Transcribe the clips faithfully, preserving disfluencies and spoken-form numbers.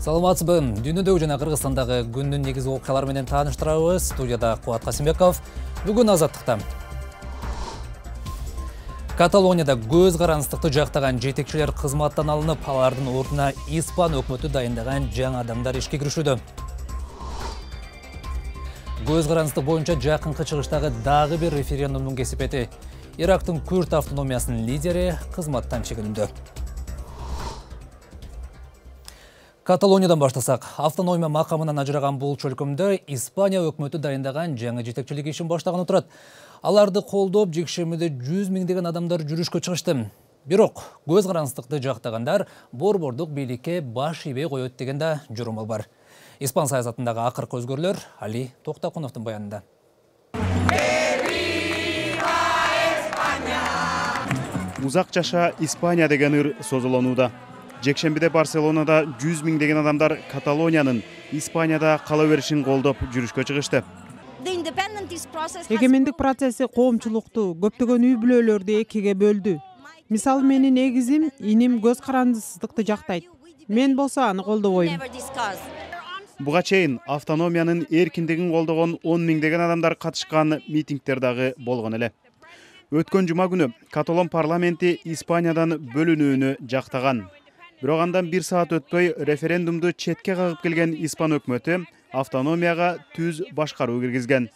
Саламатсызбы. Дүйнөдөгү жана Кыргызстандагы күндүн негизги окуялары менен тааныштырабыз. Студияда Кубат Касымбеков. Бүгүн Азаттыкта. Каталонияда көз карандыкты жактаган жетекчилер кызматтан алынып, алардын ордуна Испан өкмөтү дайындаган жаңы адамдар ишке киришүүдө. Көз карандык боюнча жакынкы чыгыштагы дагы бир референдумдун кесипети. Ирактын Күрд автономиясынын лидери кызматтан чегинүүдө. Каталониядан баштасак, автономия макамынан ажыраган бул чөлкөмдө Испания өкмөтү дайындаган жаңы жетекчилик ишин баштаганы турат. Аларды колдоп, жекшемиде жүз миңдеген адамдар жүрүшкө чыгышты. Бирок, көз карандыкты жактагандар борбордук бийликке баш ийбей коет деген да журумал бар. Испан саясатындагы акыркы өзгөрүүлөр Али Токтакуновдун баянында. Узак жаша Испания деген ыр созулонууда. Жекшембиде Барселонада жүз миңдеген адамдар Каталониянын Испанияда кала беришин колдоп жүрүшкө чыгышты. Эгемендик процесси коомчулукту, көптөгөн үй бүлөлөрдү экиге бөлдү. Мисалы, менин эгизим, иним көз карандысыздыкты жактайт. Мен болсо аны колдобойм. Буга чейин автономиянын эркиндигин колдогон он миңдеген адамдар катышкан митингдер дагы болгон эле. Өткөн жума күнү Каталон парламенти Испаниядан бөлүнүүнү жактаган. Бирок андан бир саат өтпөй референдумду четке кагып келген Испан өкмөтү автономияга түз башкаруу киргизген.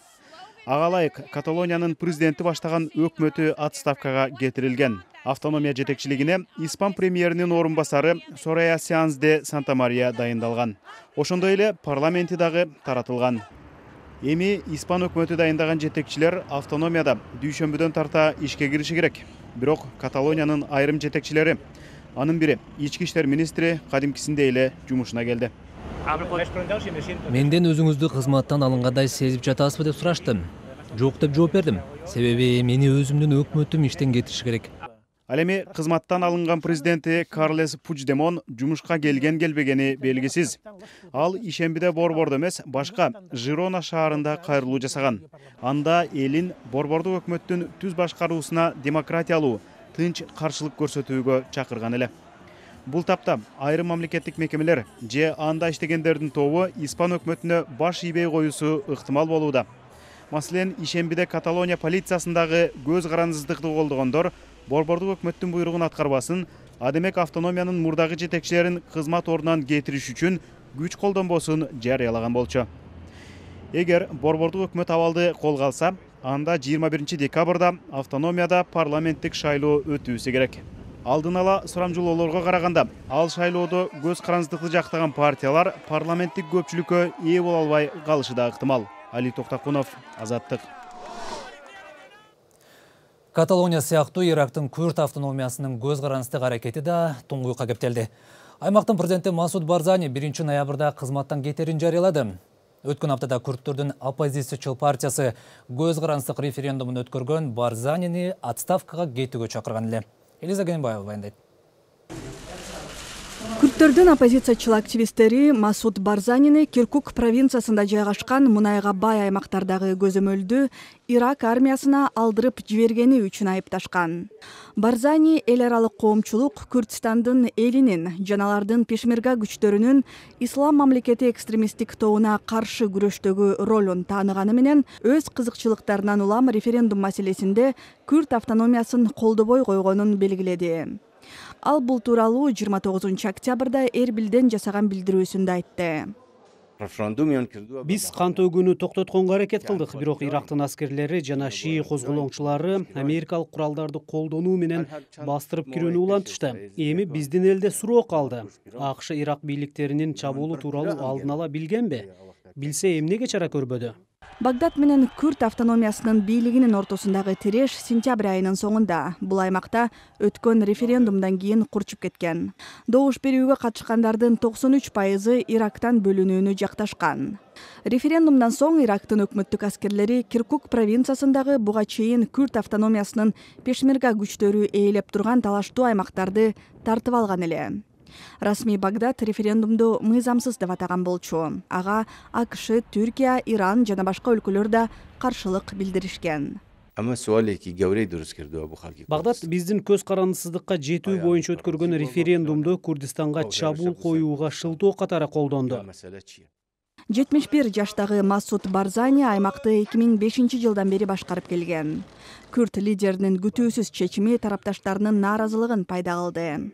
Ага ылайык Каталониянын президенти баштаган өкмөтү отставкага кетирилген. Автономия жетекчилигине Испан премьеринин орун басары Сорая Сеанс де Сантамария дайындалган. Ошондой эле парламенти дагы таратылган. Эми Испан өкмөтү дайындаган жетекчилер автономияда дүйшөмбүдөн тарта ишке кириши керек. Бирок Каталониянын айрым жетекчилери, анын бири ички иштер министри кадимкисиндей эле жумушуна келди. Менден өзүңүздү кызматтан алынгандай сезип жатасызбы деп сурашты. Жок деп жооп бердим. Себеби мени өзүмдүн өкмөтүм иштен кетириши керек. Ал эми кызматтан алынган президенти Карлес Пучдемон жумушка келген келбегени белгисиз. Ал ишембиде борбордо эмес, башка Жирона шаарында кайрылуу жасаган. Анда элин борбордук өкмөттүн түз башкаруусуна демократиялуу, тынч каршылык көрсөтүүгө чакырган эле. Бул тапта айрым мамлекеттик мекемелер же анда иштегендердин тобу Испан өкмөтүнө баш ийбей коюусу ыктымал болууда. Маселен, ишембиде Каталония полициясындагы көз карандыздыкты колдогондор борбордук өкмөттүн буйругун аткарбасын, адемек автономиянын мурдагы жетекчилерин кызмат ордунан кетириш үчүн күч колдонбосун жарыялаган болчу. Эгер борбордук өкмөт абалды колго алса, анда жыйырма биринчи декабрда автономияда парламенттик шайлоо өтүүсү керек. Алдын ала сурамжылоолорго караганда, ал шайлоодо көз карандыкты жактаган партиялар парламенттик көпчүлүккө ээ боло албай калышы да ыктымал. Али Токтакунов, Азаттык. Каталония сыяктуу Ирактын Күрд автономиясынын көз карандык аракети да туңгуйукка кептелди. Аймактын президенти Масуд Барзани биринчи ноябрда кызматтан кетерин жарыялады. Өткөн аптада күрдтөрдүн оппозициячыл партиясы көз карандык референдумун өткөргөн Барзанини отставкага кетүүгө чакырган эле. Элиза Генбаева баяндайт. Күрдтөрдүн оппозициячыл активисттери Масуд Барзанини Киркук провинциясында жайгашкан мунайга бай аймактардагы көзөмөлдү Ирак армиясына алдырып жибергени үчүн айыпташкан. Барзани эл аралык коомчулук Күрдстандын элинин жана алардын пешмерга күчтөрүнүн ислам мамлекети экстремисттик тобуна каршы күрөштөгү ролун тааныганы менен өз кызыкчылыктарынан улам референдум маселесинде Күрд автономиясын колдобой койгонун белгиледи. Ал бул тууралуу жыйырма тогузунчу октябрда Эрбилден жасаган билдирүүсүндө айтты. Биз кан төгүүнү токтотконго аракет кылдык, бирок Ирактын аскерлери жана шии козголоңчулары америкалык куралдарды колдонуу менен бастырып кирүүнү улантышты. Эми биздин элде суроо калды. АКШ Ирак бийликтеринин чабуулу тууралуу алдын ала билгенби? Билсе эмнеге чара көрбөдү? Багдад менен Күрд автономиясынын бийлигинин ортосундагы тиреш сентябрь айынын соңунда бул аймакта өткөн референдумдан кийин курчуп кеткен. Добуш берүүгө катышкандардын токсон үч пайызы Ирактан бөлүнүүнү жакташкан. Референдумдан соң Ирактын өкмөттүк аскерлери Киркук провинциясындагы буга чейин Күрд автономиясынын пешмерга күчтөрү ээлеп турган талаштуу аймактарды тартып алган эле. Расмий Багдад референдумду мыйзамсыз деп атаган болчу. Ага АКШ, Түркия, Иран жана башка өлкөлөр да каршылык билдиришкен. Багдад биздин көз карандысыздыкка жетүү боюнча өткөргөн референдумду Курдистанга чабуул коюуга шылтоо катары колдонду. жетимиш бир жаштагы Масуд Барзани аймакты эки миң бешинчи жылдан бери башкарып келген. Күрд лидеринин күтүүсүз чечими тарапташтарынын нааразылыгын пайда кылды.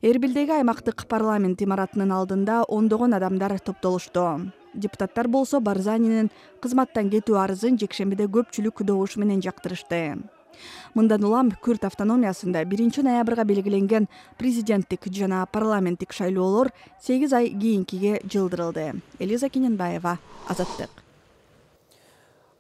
Эрбилдеги аймактык парламент имаратынын алдында ондогон адамдар топтолушту. Депутаттар болсо Барзанинин кызматтан кетүү арызын жекшембиде көпчүлүк добуш менен жактырышты. Мындан улам Күрд автономиясында биринчи ноябрга белгиленген президенттик жана парламенттик шайлоолор сегиз ай кийинкиге жылдырылды. Элиза Кененбаева, Азаттык.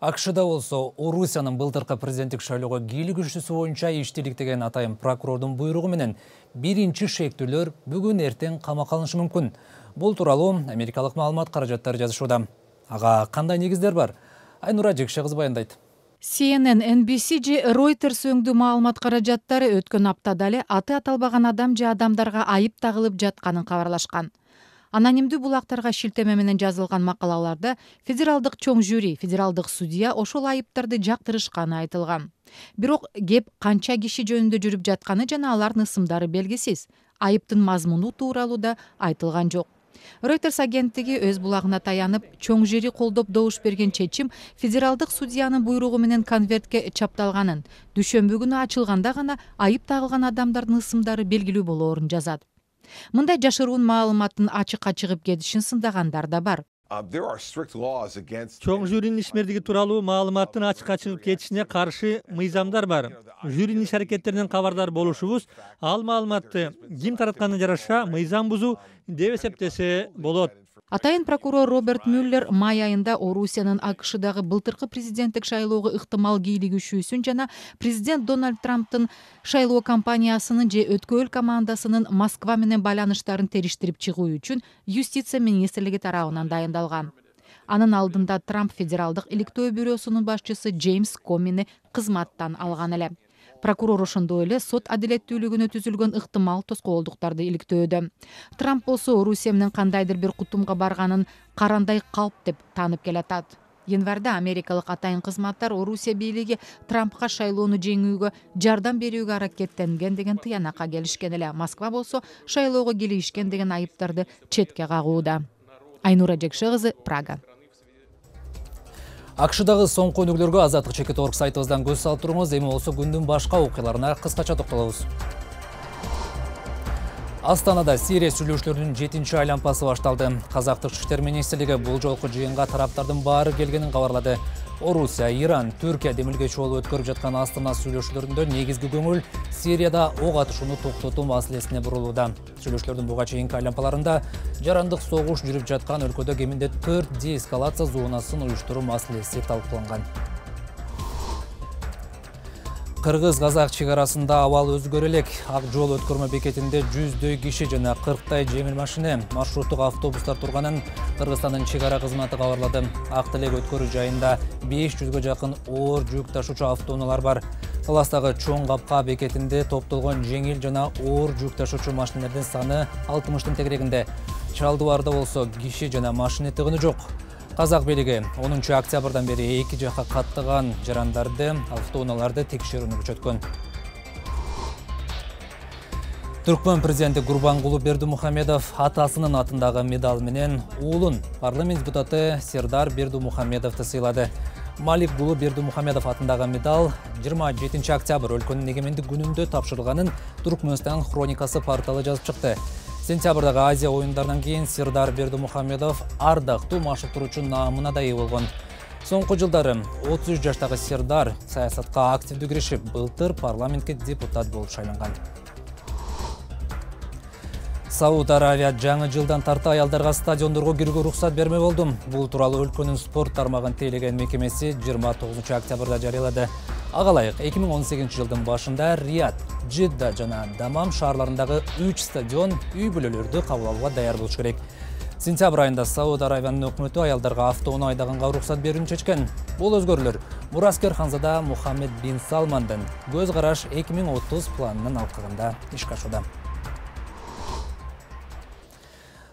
АКШда болсо Орусиянын былтыркы президенттик шайлоого кийлигишүүсү боюнча иштеликтеген атайын прокурордун буйругу менен биринчи шектүүлөр бүгүн эртең камакка алынышы мүмкүн. Бул тууралуу америкалык маалымат каражаттары жазышууда. Ага кандай негиздер бар? Айнура Жекше кызы баяндайт. Си Эн Эн, Эн Би Си же Reuters өңдүү маалымат каражаттары өткөн аптада эле аты аталбаган адам же адамдарга айып тагылып жатканын кабарлашкан. Анонимдүү булактарга шилтеме менен жазылган макалаларда федералдык чоң жюри, федералдык судья ошол айыптарды жактырышканы айтылган. Бирок кеп канча киши жөнүндө жүрүп жатканы жана алардын ысымдары белгисиз. Айыптын мазмуну тууралуу да айтылган жок. Reuters агенттиги өз булагына таянып, чоң жюри колдоп добуш берген чечим федералдык судьянын буйругу менен конвертке чапталганын, дүйшөмбү күнү ачылганда гана айып тагылган адамдардын ысымдары белгилүү болоорун жазат. Мындай жашыруун маалыматтын ачыкка чыгып кетишин сындагандар да бар. Чоң жюринин ишмердиги тууралуу маалыматтын ачыкка чыгып кетишине каршы мыйзамдар бар. Жюринин иш аракеттеринен кабардар болушубуз ал маалыматты ким таратканына жараша мыйзам бузуу деп эсептесе болот. Атайын прокурор Роберт Мюллер май айында Орусиянын АКШдагы былтыркы президенттик шайлоого ыктымал кийлигишүүсүн жана президент Дональд Трамптын шайлоо кампаниясынын же өткөөл командасынын Москва менен байланыштарын териштирип чыгуу үчүн юстиция министрлиги тарабынан дайындалган. Анын алдында Трамп федералдык иликтөө бюросунун башчысы Джеймс Комини кызматтан алган эле. Прокурор ошондой эле сот адилеттүүлүгүнө түзүлгөн ыктымал тоскоолдуктарды иликтөөдө. Трамп болсо Орусия менен кандайдыр бир кутумга барганын карандай калп деп таанып келатат. Январда америкалык атайын кызматтар Орусия бийлиги Трампка шайлоону жеңүүгө жардам берүүгө аракеттенген деген тыянакка келишкен эле. Москва болсо шайлоого кийлигишкен деген айыптарды четке кагууда. Айнура Жекше кызы, Прага. АКШдагы соңку өнүгүүлөргө Азаттык чекит точка орг сайтыбыздан көз салып туруңуз. Эми болсо күндүн башка окуяларына кыскача токтолобуз. Астанада Сирия сүйлөшүүлөрүнүн жетинчи айлампасы башталды. Казактык ички иштер министрлиги бул жолку жыйынга тараптардын баары келгенин кабарлады. Орусия, Иран, Түркия демилгечи болуп өткөрүп жаткан Астана сүйлөшүүлөрүндө негизги көңүл Сирияда ок атышууну токтотуу маселесине бурулууда. Сүйлөшүүлөрдүн буга чейинки айлампаларында жарандык согуш жүрүп жаткан өлкөдө кеминде төрт деэскалация зонасын уюштуруу маселеси талкууланган. Кыргыз-казак чек арасында абал өзгөрө элек. Ак жол өткөрмө бекетинде жүздөй киши жана кырктай жеңил машина, маршруттук автобустар турганын Кыргызстандын чек ара кызматы кабарлады. Ак Телек өткөрүү жайында беш жүзгө жакын оор жүк ташуучу автоунаалар бар. Таластагы чоң капка бекетинде топтолгон жеңил жана оор жүк ташуучу машиналардын саны алтымыштын тегерегинде. Чалдыбарда болсо киши жана машина тыгыны жок. Казак бийлиги онунчу октябрдан бери эки жакка каттаган жарандарды, автоунааларды текшерүүнү күчөткөн. Түркмөн президенти Гурбангулы Бердимухамедов атасынын атындагы медаль менен уулун парламент депутаты Сердар Бердимухамедовду сыйлады. Малик Гулы Бердимухамедов атындагы медаль жыйырма жетинчи октябрь өлкөнүн эгемендик күнүндө тапшырылганын Түркмөнстан хроникасы порталы жазып чыкты. Сентябрдагы Азия оюндарынан кийин Сердар Бердимухамедов ардактуу машыктыруучу наамына да ээ болгон. Соңку жылдары отуз үч жаштагы Сердар саясатка активдүү киришип, былтыр парламентке депутат болуп шайланган. Сауд Аравия жаңы жылдан тарта аялдарга стадиондорго кирүүгө уруксат берме болду. Бул тууралуу өлкөнүн спорт тармагын тейлеген мекемеси жыйырма тогузунчу октябрда жарыялады. Ага ылайык эки миң он сегизинчи жылдын башында Рият, Жидда жана Дамам шаарларындагы үч стадион үй бүлөлөрдү кабыл алууга даяр болуш керек. Сентябрь айында Сауд Аравиянын өкмөтү аялдарга автоунаа айдаганга уруксат берүүнү чечкен. Бул өзгөрүүлөр мураскер ханзада Мухаммед бин Салмандын көз караш эки миң отуз планынын алкагында ишке ашууда.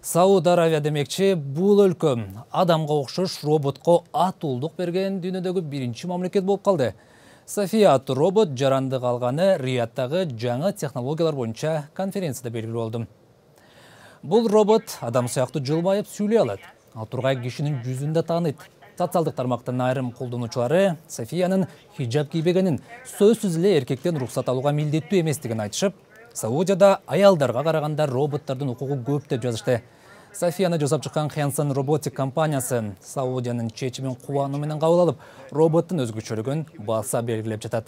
Сауд Аравия демекчи, бул өлкө адамга окшош роботко атуулдук берген дүйнөдөгү биринчи мамлекет болуп калды. София аттуу робот жаранды калганы Риядтагы жаңы технологиялар боюнча конференцияда белгилүү болду. Бул робот адам сыяктуу жылмайып сүйлөй алат. Ал тургай кишинин жүзүн да тааныйт. Социалдык тармактын айрым колдонуучулары Софиянын хиджаб кийбегенин, сөзсүз эле эркектен уруксат алууга милдеттүү эместигин айтышып, Саудияда аялдарга караганда роботтордун укугу көп деп жазышты. Софияны жасап чыккан Hanson Robotic компаниясы Саудиянын чечимин кубануу менен кабыл алып, роботтун өзгөчөлүгүн баса белгилеп жатат.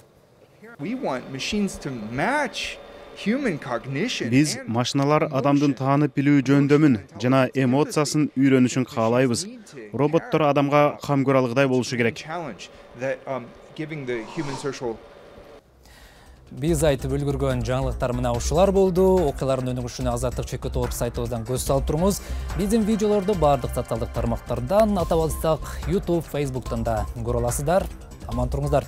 Биз машиналар адамдын таанып билүү жөндөмүн жана эмоциясын үйрөнүшүн каалайбыз. Роботтор адамга кам көрө алгыдай болушу керек. Биз айтып үлгүргөн жаңылыктар мына ушулар болду. Окуялардын өнүгүшүнө Азаттык чекит топ сайтыбыздан көз салып туруңуз. Биздин видеолорду бардык социалдык тармактардан, атап алсак YouTube, Facebook'тан да көрө аласыздар. Аман туруңуздар.